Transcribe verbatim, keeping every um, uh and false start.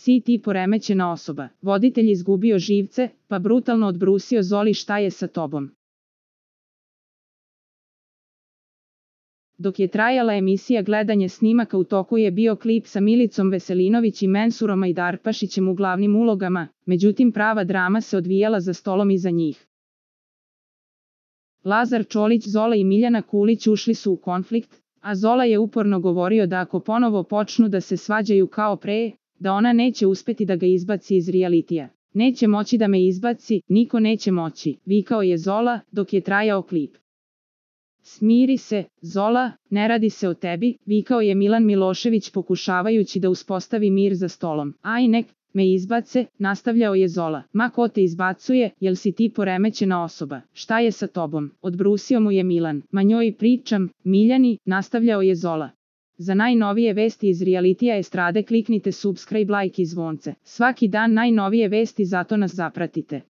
Si ti poremećena osoba. Voditelj izgubio živce, pa brutalno odbrusio Zoli šta je sa tobom. Dok je trajala emisija gledanje snimaka u toku je bio klip sa Milicom Veselinović i Mensurom Ajdarpašićem u glavnim ulogama, međutim prava drama se odvijala za stolom iza njih. Lazar Čolić, Zola i Miljana Kulić ušli su u konflikt, a Zola je uporno govorio da ako ponovo počnu da se svađaju kao pre, da ona neće uspeti da ga izbaci iz realitija. Neće moći da me izbaci, niko neće moći, vikao je Zola dok je trajao klip. Smiri se, Zola, ne radi se o tebi, vikao je Milan Milošević pokušavajući da uspostavi mir za stolom. Aj nek me izbace, nastavljao je Zola. Ma ko te izbacuje, jel si ti poremećena osoba? Šta je sa tobom? Odbrusio mu je Milan. Ma njoj pričam, Miljani, nastavljao je Zola. Za najnovije vesti iz realitija estrade kliknite subscribe, like i zvonce. Svaki dan najnovije vesti, zato nas zapratite.